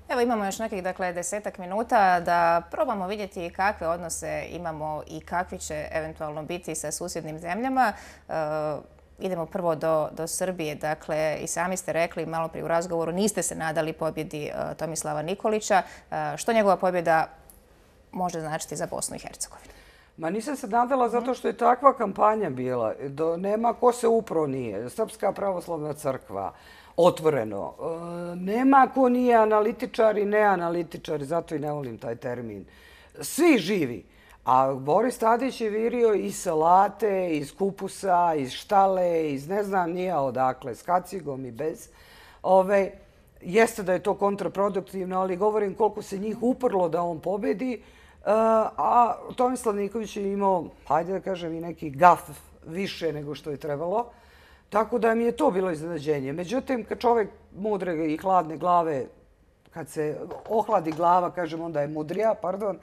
Evo imamo još nekih, dakle, 10-ak minuta da probamo vidjeti kakve odnose imamo i kakvi će eventualno biti sa susjednim zemljama. Idemo prvo do Srbije. Dakle, i sami ste rekli malo prije u razgovoru, niste se nadali pobjedi Tomislava Nikolića. Što njegova pobjeda može značiti za Bosnu i Hercegovinu? Ma nisam se nadala zato što je takva kampanja bila. Nema ko se upro nije. Srpska pravoslavna crkva, otvoreno. Nema ko nije analitičar i neanalitičar, zato i ne volim taj termin. Svi živi. A Boris Tadić je virio iz salate, iz kupusa, iz štale, iz ne znam nija odakle, s kacigom i bez. Jeste da je to kontraproduktivno, ali govorim koliko se njih uprlo da on pobedi. A Tomislav Nikolić je imao, hajde da kažem, i neki gaf više nego što je trebalo. Tako da mi je to bilo iznenađenje. Međutim, kad čovjek mudre i hladne glave, kad se ohladi glava, kažem, onda je mudrija, pardon,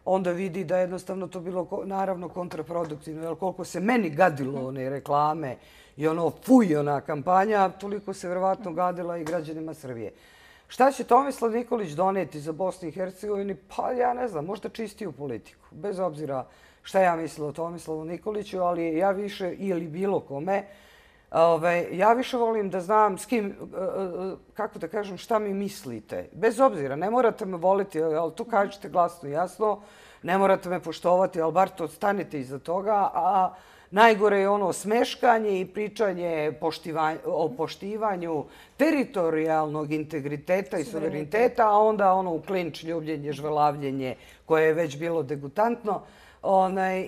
onda vidi da je jednostavno to bilo naravno kontraproduktivno. Jer koliko se meni gadilo one reklame i ono fuj, ona kampanja, toliko se vjerovatno gadila i građanima Srbije. Šta će Tomislav Nikolić doneti za Bosnu i Hercegovini? Pa ja ne znam, možda čistiju politiku. Bez obzira šta ja mislila o Tomislavu Nikoliću, ali ja više, ili bilo kome, ja više volim da znam s kim, kako da kažem, šta mi mislite. Bez obzira, ne morate me voliti, ali to kažete glasno i jasno, ne morate me poštovati, ali bar to stanete iza toga, a najgore je ono smeškanje i pričanje o poštivanju teritorijalnog integriteta i suvereniteta, a onda ono u klinč ljubljenje, žvelavljenje koje je već bilo degutantno.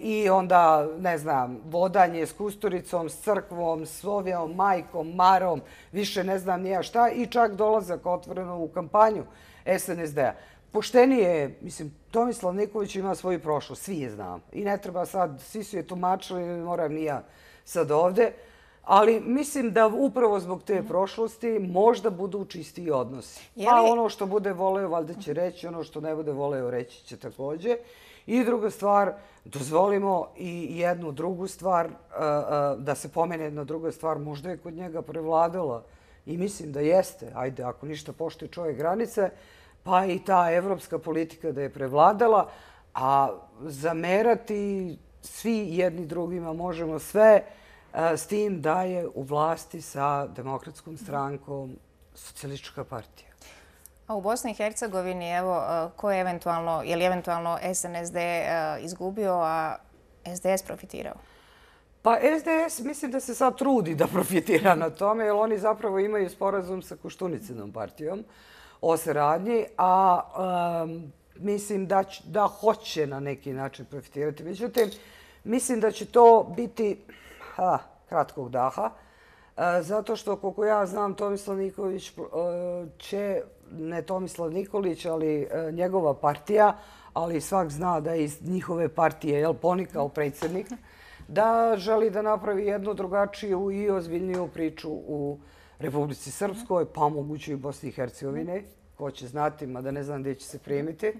I onda, ne znam, vodanje s Kusturicom, s crkvom, s Sovijom, majkom, Marom, više ne znam nija šta i čak dolazak otvoreno u kampanju SNSD-a. Poštenije, mislim, Tomislav Nikolić ima svoju prošlost, svi je znam. I ne treba sad, svi su je tumačili, ne moram ni ja sad ovde. Ali mislim da upravo zbog te prošlosti možda budu čistiji odnosi. Pa ono što bude voleo, valjda će reći, ono što ne bude voleo, reći će također. I druga stvar, dozvolimo i jednu drugu stvar, da se pomene jedna druga stvar, možda je kod njega prevladala i mislim da jeste, ajde, ako ništa poštuje čovjek granice, pa i ta evropska politika da je prevladala, a zamerati svi jedni drugima možemo sve s tim da je u vlasti sa Demokratskom strankom Socijalistička partija. A u Bosni i Hercegovini, evo, je li eventualno SNSD izgubio, a SDS profitirao? Pa SDS mislim da se sad trudi da profitira na tome, jer oni zapravo imaju sporazum sa Koštunicinom partijom o saradnji, a mislim da hoće na neki način profitirati. Međutim, mislim da će to biti kratkog daha, zato što, koliko ja znam, Tomislav Nikolić će, ne Tomislav Nikolić, ali njegova partija, ali svak zna da je iz njihove partije ponikao predsjednik, da želi da napravi jednu drugačiju i ozbiljniju priču u Republici Srpskoj, pa moguće i Bosni i Hercegovine, ko će znati, mada ne znam gdje će se primiti,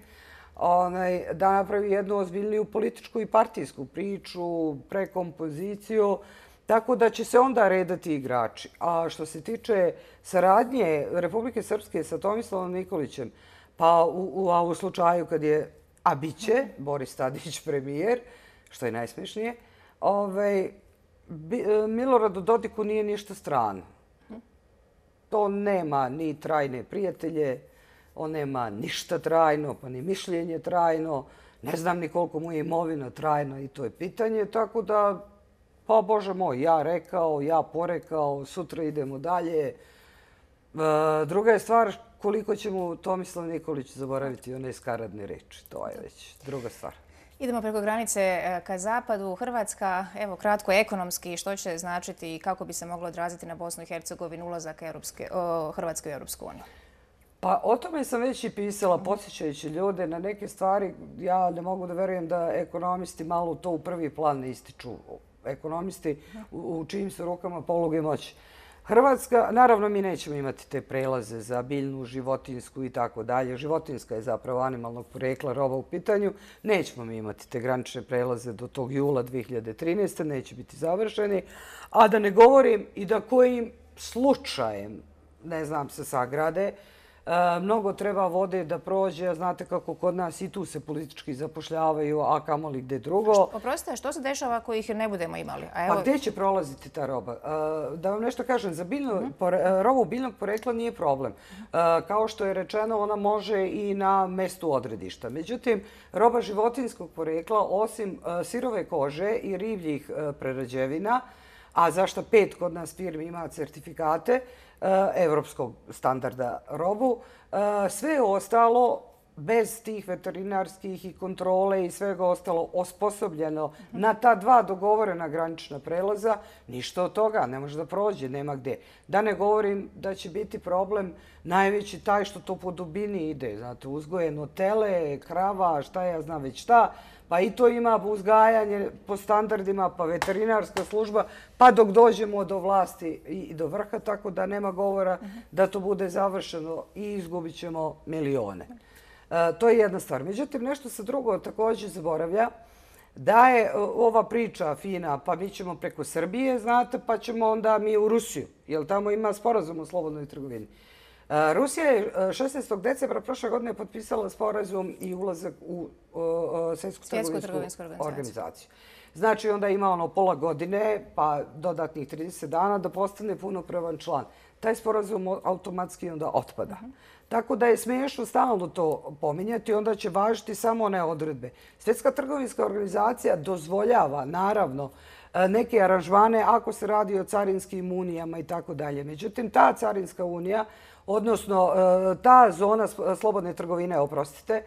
da napravi jednu ozbiljniju političku i partijsku priču, prekompoziciju, tako da će se onda redati igrači. A što se tiče saradnje Republike Srpske sa Tomislavom Nikolićem, pa u slučaju kad je, a bit će, Boris Tadić premijer, što je najsmešnije, Miloradu Dodiku nije ništa strano. To nema ni trajne prijatelje, on nema ništa trajno, pa ni mišljenje trajno, ne znam ni koliko mu je imovina trajna i to je pitanje, tako da, pa Bože moj, ja rekao, ja porekao, sutra idemo dalje. Druga je stvar koliko će mu Tomislav Nikolić zaboraviti one skaradne reči, to je već druga stvar. Idemo preko granice ka zapadu. Hrvatska, evo kratko ekonomski, što će značiti i kako bi se moglo odraziti na Bosnu i Hercegovinu ulazak Hrvatske u Europsku uniju? Pa o tome sam već i pisala, podsjećajući ljude na neke stvari. Ja ne mogu da verujem da ekonomisti malo to u prvi plan ne ističu. Ekonomisti u čijim su rukama poluge moći. Hrvatska, naravno mi nećemo imati te prelaze za biljnu, životinsku i tako dalje. Životinska je zapravo animalnog porekla roba u pitanju. Nećemo mi imati te granične prelaze do tog jula 2013. Neće biti završeni. A da ne govorim i da kojim slučajem, ne znam, se sagrade, Mnogo treba vode da prođe, znate kako kod nas i tu se politički zapošljavaju, a kamoli gde drugo. Oprostite, što se dešava ako ih ne budemo imali? Pa gde će prolaziti ta roba? Da vam nešto kažem, za robu biljnog porekla nije problem. Kao što je rečeno, ona može i na mestu odredišta. Međutim, roba životinjskog porekla, osim sirove kože i ribljih prerađevina, a za što 5 kod nas firmi ima certifikate evropskog standarda robu, sve ostalo bez tih veterinarskih i kontrole i svega ostalo osposobljeno na ta 2 dogovorena granična prelaza, ništa od toga ne može da prođe, nema gde. Da ne govorim da će biti problem najveći taj što to po dubini ide. Znate, uzgojeno tele, krava, šta ja znam već šta, pa i to ima uzgajanje po standardima, pa veterinarska služba, pa dok dođemo do vlasti i do vrha, tako da nema govora da to bude završeno i izgubit ćemo milione. To je jedna stvar. Međutim, nešto se drugo također zaboravlja, da je ova priča fina, pa mi ćemo preko Srbije, znate, pa ćemo onda mi u Rusiju, jer tamo ima sporazum o slobodnoj trgovini. Rusija je 16. decembra prošle godine potpisala sporazum i ulazak u Svjetsku trgovinsku organizaciju. Znači, onda ima ono pola godine, pa dodatnih 30 dana da postane punopravan član. Taj sporazum automatski onda otpada. Tako da je smiješno stalno to pominjati, onda će važiti samo one odredbe. Svjetska trgovinska organizacija dozvoljava, naravno, neke aranžmane ako se radi o carinskim unijama i tako dalje. Međutim, ta carinska unija, odnosno ta zona slobodne trgovine, oprostite,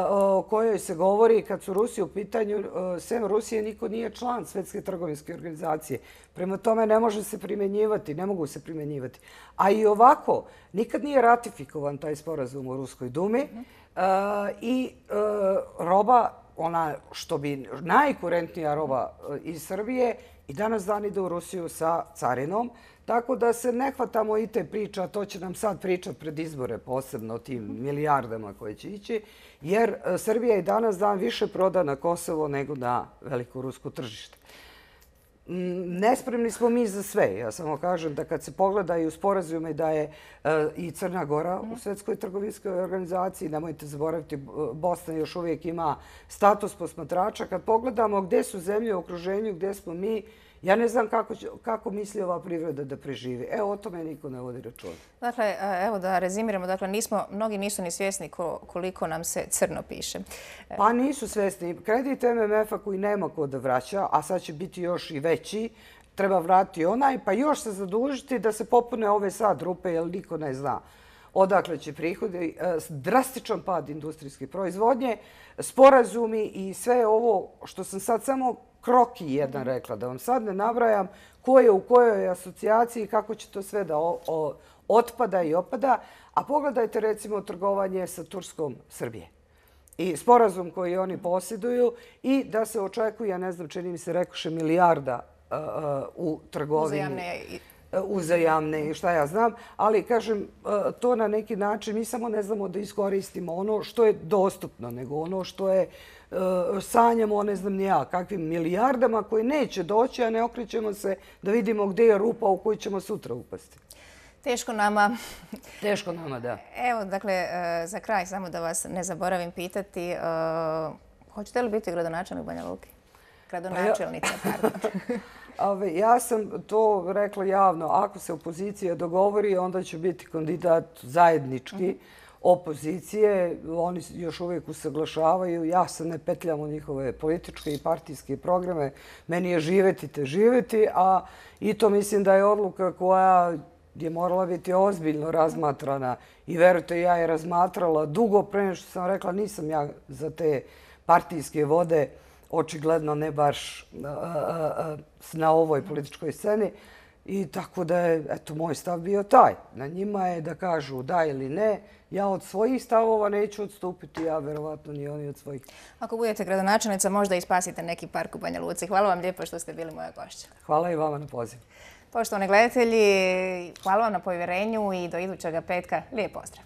o kojoj se govori kad su Rusi u pitanju, sem Rusije niko nije član Svjetske trgovinske organizacije. Prema tome ne može se primjenjivati, ne mogu se primjenjivati. A i ovako, nikad nije ratifikovan taj sporazum u Ruskoj dumi i roba, ona što bi najkurentnija roba iz Srbije, i danas dan ide u Rusiju sa carinom. Tako da se ne hvatamo i te priče, a to će nam sad pričati pred izbore, posebno o tim milijardama koje će ići, jer Srbija i danas dan više proda na Kosovo nego na veliko rusko tržište. Nespremni smo mi za sve. Ja samo kažem da kad se pogledaju sporazume da je i Crna Gora u Svjetskoj trgovinskoj organizaciji, nemojte zaboraviti, Bosna još uvijek ima status posmatrača. Kad pogledamo gdje su zemlje u okruženju, gdje smo mi, ja ne znam kako misli ova privreda da preživi. Evo, o tome niko ne vodi računa. Dakle, evo da rezimiramo, dakle, mnogi nisu ni svjesni koliko nam se crno piše. Pa nisu svjesni. Kredit MMF-a koji nema ko da vraća, a sad će biti još i veći, treba vratiti onaj, pa još se zadužiti da se popune ove sad rupe, jer niko ne zna odakle će prihodi, drastičan pad industrijske proizvodnje, sporazumi i sve ovo što sam sad samo kroki jedan rekla, da vam sad ne nabrajam ko je u kojoj asocijaciji i kako će to sve da otpada i opada. A pogledajte recimo trgovanje sa Turskom Srbije i sporazum koji oni posjeduju i da se očekuje, ne znam, čini mi se rekoše milijarda u trgovini. Uzajamne i šta ja znam, ali kažem, to na neki način mi samo ne znamo da iskoristimo ono što je dostupno, nego ono što je sanjamo, ne znam ni ja, kakvim milijardama koji neće doći, a ne okrećemo se da vidimo gdje je rupa u koju ćemo sutra upasti. Teško nama. Teško nama, da. Evo, dakle, za kraj, samo da vas ne zaboravim pitati, hoćete li biti gradonačelnik Banja Luke? Gradonačelnica, pardon. Ja sam to rekla javno. Ako se opozicija dogovori, onda će biti kandidat zajednički opozicije. Oni još uvijek usaglašavaju. Ja se ne petljam u njihove političke i partijske programe. Meni je živjeti te živjeti, a i to mislim da je odluka koja je morala biti ozbiljno razmatrana. I verujte, ja je razmatrala dugo pre nego što sam rekla nisam ja za te partijske vode, očigledno ne baš na ovoj političkoj sceni. I tako da je, eto, moj stav bio taj. Na njima je da kažu da ili ne. Ja od svojih stavova neću odstupiti, a verovatno ni oni od svojih. Ako budete gradonačelnica, možda i spasite neki park u Banja Luci. Hvala vam lijepo što ste bili moja gošća. Hvala i vama na pozivu. Poštovani gledatelji, hvala vam na povjerenju i do idućega petka. Lijep pozdrav.